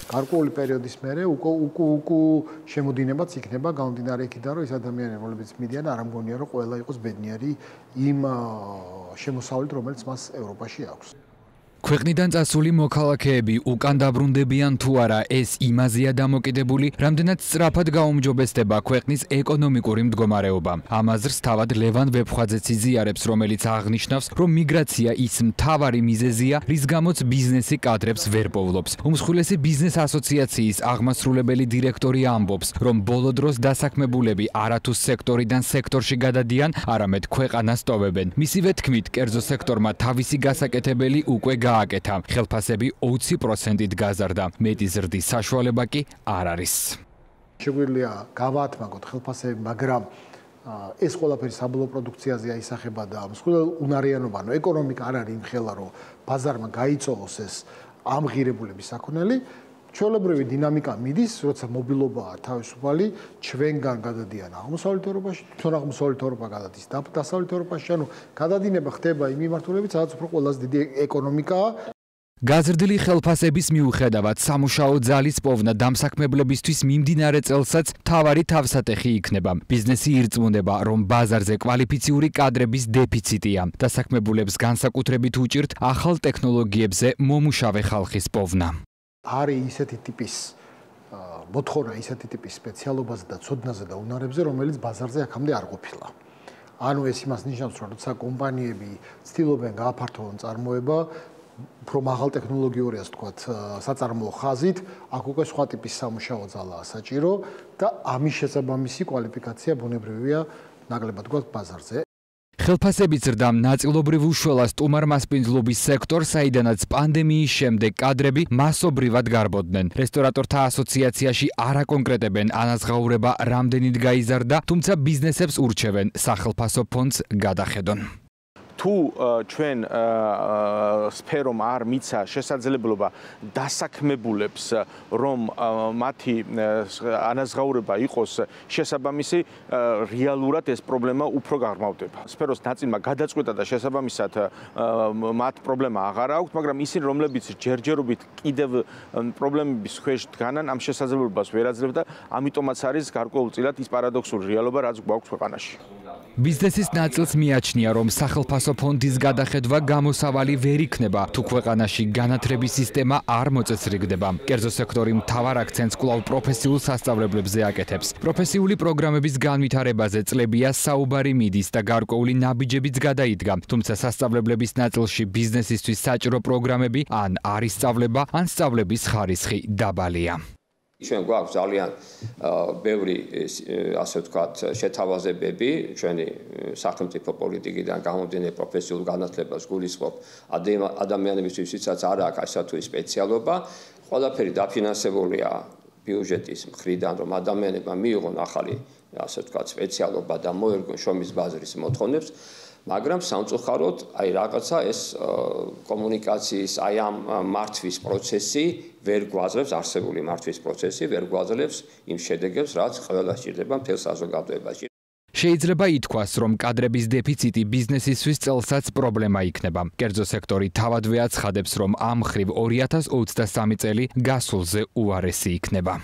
გარკვეული პერიოდის მერე უკუ შემოდინებაც იქნება გამომდინარე იქიდან, რომ ეს ადამიანები, რომლებიც მიდიან, არ ამგონია, რომ ყველა იყოს ბედნიერი იმ შემოსავლით, რომელიც მას ევროპაში აქვს. ქვეყნიდან წასული მოქალაქეები უკან დაბრუნდებიან თუ არა, ეს იმაზეა დამოკიდებული, რამდენად სწრაფად გაუმჯობესდება ქვეყნის ეკონომიკური მდგომარეობა. ამ აზრს თავად ლევან ვეფხვაძეც იზიარებს, რომელიც აღნიშნავს, რომ მიგრაცია ის მთავარი მიზეზია, რის გამოც ბიზნესი კადრებს ვერ პოვლობს. უმსხვილესი ბიზნეს ასოციაციის აღმასრულებელი დირექტორი ამბობს, რომ ბოლო დროს დასაქმებულები არათუ სექტორიდან სექტორში გადადიან, არამედ ქვეყანას ტოვებენ. მისივე თქმით, კერძო სექტორმა თავისი გასაკეთებელი უკვე გააკეთა. ხელფასები 20%-ით გაზარდა. მეტი ზრდის საშუალება კი არ არის. შეგვიძლია გავაათმაგოთ ხელფასები, მაგრამ ეს ყველაფერი საბოლოო პროდუქციაზე აისახება და მსხვილ უნარიანობა, ეკონომიკა არ არის იმხელა, რომ ბაზარმა გაიწოვოს ეს ამღირებულების საქონელი. ჩვეულებრივი დინამიკა მიდის, როცა მობილობაა თავისუფალი, ჩვენგან გადადიან აღმოსავლეთ ევროპაში, თვითონ აღმოსავლეთ ევროპა გადადის დასავლეთ ევროპაში, ანუ გადადინება ხდება იმ მიმართულებით, სადაც უფრო ყველაზე დიდი ეკონომიკაა. გაზრდილი ხელფასების მიუხედავად სამუშაო ძალის პოვნა დამსაქმებლებისთვის მიმდინარე წელსაც მთავარი თავსატეხი იქნება. ბიზნესი ირწმუნება, რომ ბაზარზე კვალიფიციური კადრების დეფიციტია. დასაქმებულებს განსაკუთრებით უჭირთ ახალ ტექნოლოგიებზე მომუშავე ხალხის პოვნა. არის ისეთი ტიპის მოთხოვნა, ისეთი ტიპის სპეციალობაზე და ცოდნაზე და უნარებზე, რომელიც ბაზარზე აქამდე არ ყოფილა. ანუ ეს იმას ნიშნავს, რომ როცა კომპანიები ცდილობენ გააფართოვონ წარმოება, უფრო მაღალ ტექნოლოგიური, ასე ვთქვათ, საწარმოო ხაზით, აქ უკვე სხვა ტიპის სამუშაო ძალაა საჭირო და ამის შესაბამისი კვალიფიკაცია ბუნებრივია ნაკლებად გვაქვს ბაზარზე. ხელფასების ზრდამ ნაწილობრივ უშველა სტუმარ-მასპინძლობის სექტორს, საიდანაც პანდემიის შემდეგ კადრები მასობრივად გარბოდნენ. რესტორატორთა ასოციაციაში არ აკონკრეტებენ ანაზღაურება რამდენით გაიზარდა, თუმცა ბიზნესებს ურჩევენ სახელფასო ფონდს გადახედონ. თუ ჩვენ სფერომ არ მიცა შესაძლებლობა დასაქმებულებს, რომ მათი ანაზღაურება იყოს შესაბამისი, რეალურად ეს პრობლემა უფრო გაღრმავდება. სფეროს ნაწილმა გადაწყვეტა და შესაბამისად მათ პრობლემა აღარ აქვს, მაგრამ ისინი, რომლებიც ჯერჯერობით კიდევ პრობლემების ქვეშ დგანან, ამ შესაძლებლობას ვერ აძლევს და ამიტომაც არის გარკვეულწილად ის პარადოქსული რეალობა, რაც გვაქვს ქვეყანაში. ბიზნესის ნაწილს მიაჩნია, რომ სახელფასო ფონდის გადახედვა გამოსავალი ვერ იქნება, თუ ქვეყანაში განათლების სისტემა არ მოწესრიგდება. კერძო სექტორი მთავარ აქცენტს კვლავ პროფესიულ სასწავლებლებზე აკეთებს. პროფესიული პროგრამების განვითარებაზე წლებია საუბარი მიდის და გარკვეული ნაბიჯებიც გადაიდგა, თუმცა სასწავლებლების ნაწილში ბიზნესისთვის საჭირო პროგრამები ან არ ისწავლება, ან სწავლების ხარისხი დაბალია. ჩვენ გვაქვს ძალიან ბევრი, ასე ვთქვათ, შეთავაზებები ჩვენი სახელმწიფო პოლიტიკიდან გამომდინარე პროფესიულ განათლებას გულისხმობ ადამიანებისთვის, ვისაც არ აქვს ასე თუ სპეციალობა, ყველაფერი დაფინანსებულია ბიუჯეტის მხრიდან, რომ ადამიანებმა მიიღონ ახალი, ასე ვთქვათ, სპეციალობა და მოერგონ შრომის ბაზრის მოთხოვნებს. მაგრამ სამწუხაროდ, აი რაღაცა ეს კომუნიკაციის აი ამ მართვის პროცესი ვერ გვაძლევს, არსებული მართვის პროცესი ვერ გვაძლევს იმ შედეგებს, რაც ყველა სჭირდება მთელ საზოგადოებაში. შეიძლება ითქვას, რომ კადრების დეფიციტი ბიზნესისთვის წელსაც პრობლემა იქნება. კერძო სექტორი თავადვე აცხადებს, რომ ამ მხრივ 2023 წელი გასულზე უარესი იქნება.